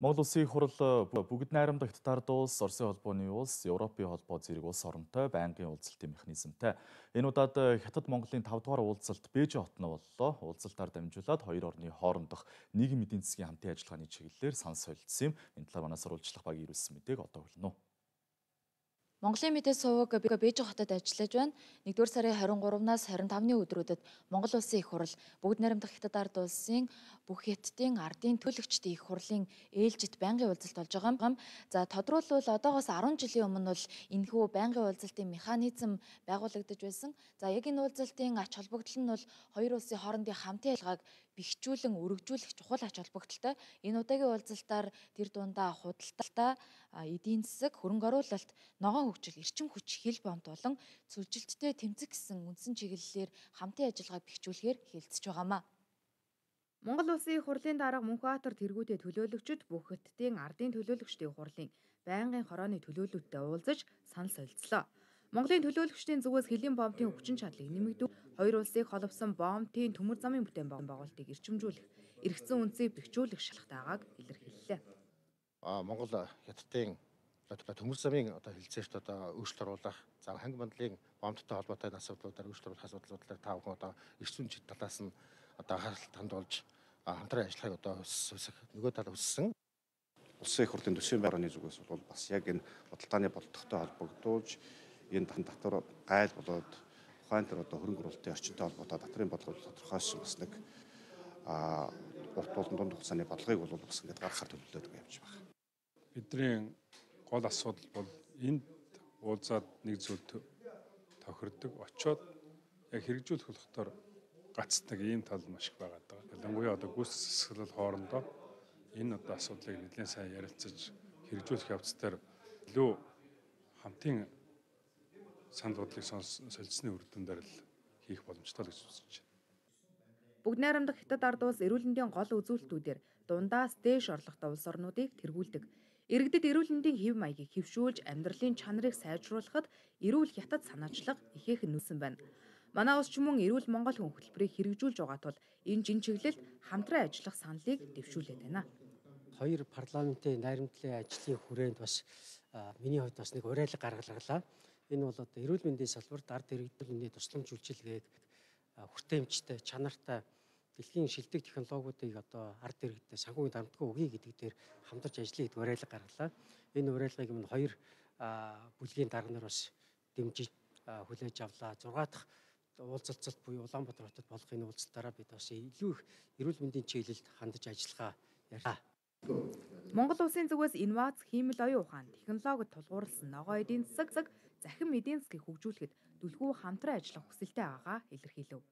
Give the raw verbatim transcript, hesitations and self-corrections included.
Монгол Улсын их хурал бүгд найрамдах Хятад улс, Оросын холбооны улс, Европын холбоо зэрэг улс оронтой байнгын уулзалтын механизмтай. Энэ удаад Хятад Монголын тав дугаар уулзалт Бээжин хотно боллоо. Уулзалтаар дамжуулаад хоёр орны хоорондох нийгэм эдийн засгийн хамтын ажиллагааны чиглэлээр санал солилцсон юм. Энэ талаар манай сурвалжлах багийн ирүүлсэн мэдээг одоо хүргэнэ. Монголын мэдээ суваг Бээжин хотод ажиллаж байна. нэгдүгээр сарын харин гуравнаас харин тавны өдрүүдэд Монгол Улсын их хурал бүгд найрамдах Хятад ард улсын бүх хятадын ардын төлөөлөгчдийн их хурлын ээлжид байнгын уулзалт болж байгаа юм. За тодруулбал одоогоос арван жилийн өмнө бол энэхүү байнгын уулзалтын механизм байгуулагдаж байсан. За яг энэ уулзалтын ач холбогдол нь бол хоёр улсын хоорондын хамтын ажиллагааг бэхжүүлэн өргөжүүлэх чухал ач холбогдолтой. Энэ удаагийн уулзалтаар тэр дундаа худалдаа, эдийн засаг, хөрөнгө оруулалт, ногоон хөгжил, эрчим хүч, хил бомт болон цөлжилттэй тэмцэх гэсэн үндсэн чиглэлээр хамтын ажиллагааг бэхжүүлэхээр хэлэлцэж байгаамаа. Монгол Улсын их хурлын дарга Мөнхбаатар тэргүүтээ төлөөлөгчд бүх хятадын ардын төлөөлөгчдийн хурлын байнгын хорооны төлөөлөлтөд уулзаж санал солилцлоо. Монголын төлөөлөгчдийн зүгээс хилийн бомтын хүчин чадлыг нэмэгдүүлэх, хоёр улсыг холбосон бомтын төмөр замын бүтээн байгуулалтыг эрчимжүүлэх, эргэцэн үнцийг бэхжүүлэх шалтгааг илэрхийллээ. А Монгол хятадын төмөр замын одоо хэлцээрт одоо өөрчлөлт оруулах, за ханги мандлын бомттой холбоотой асуудлуудаар өөрчлөлт оруулах асуудлуудаар тав хүн одоо эрчим хүч талаас нь одоо анхаарал хандуулж хамтран ажиллахыг одоо өсөх нөгөө тал өссөн. Улсын их хурлын төсвийн байрны зүгээс бол бас яг энэ бодлогын болдогтой холбогдуулж энэ татвар гайл болоод ухаан дээр одоо хөрөнгө оруулалтын орчинтой холбоотой татрын бодлого тодорхойлсон бас нэг а урт болон дунд хугацааны бодлогыг бол бас ингээд гаргахаар төлөвлөдөг явж байгаа. Бидний гол асуудал бол энд уулзаад нэг зүйл тохирдог, очоод яг хэрэгжүүлэх болохоор гацдаг ийм тал маш их байгаа даа. Ялангуяа одоо гүйцэтгэл хоорондоо энэ одоо асуудлыг нэлээд сайн ярилцаж хэрэгжүүлэх явц дээр илүү хамтын санал бодлыг солилцсны үр дүн дээр л хийх боломжтой л гэж үзэж байна. Бүгд найрамдах Хятад ард улс эрүүл мэндийн гол үзүүлэлтүүдээр дундаас дээш орлоготой улс орнуудыг тэргүүлдэг. Иргэдэд эрүүл мэндийн хэв маягийг хэвшүүлж амьдралын чанарыг сайжруулахад эрүүл хятад санаачлага ихээхэн нүүсэн байна. Манай улс ч мөн эрүүл Монгол хүн хөтөлбөрийг хэрэгжүүлж байгаа тул энэ жин чиглэлд хамтран ажиллах саналыг дэвшүүлээд байна. Хоёр парламентын найрамдлын ажлын хүрээнд бас миний хувьд бас нэг уриалга гаргалаа. Энэ бол одоо эрүүл мэндийн салбарт ард иргэдийн тусламж үйлчилгээг хүртээмжтэй, чанартай дэлхийн шилдэг технологиудыг одоо ард иргэдэд санхүүгийн дарамтгүй өгье гэдэг дээр хамтарч ажиллая гэдэг уриалга гаргалаа. Энэ уриалгыг өмнө хоёр бүлгийн дарга нар бас дэмжиж хүлээж авлаа. зургаа дахь уулзалцалт буюу Улаанбаатар хотод болох энэ уулзалтаараа бид бас илүү их эрүүл мэндийн чиглэлд хандаж ажиллахаа ярьлаа. Монгол улсын зүгээс инновац, хиймэл оюун ухаан, технологид тулгуурласан ногоо эдийн засаг, захин эдийн засгийг хөгжүүлэхэд түлхүү хамтран ажиллах хүсэлтэй байгаагаа илэрхийлэв.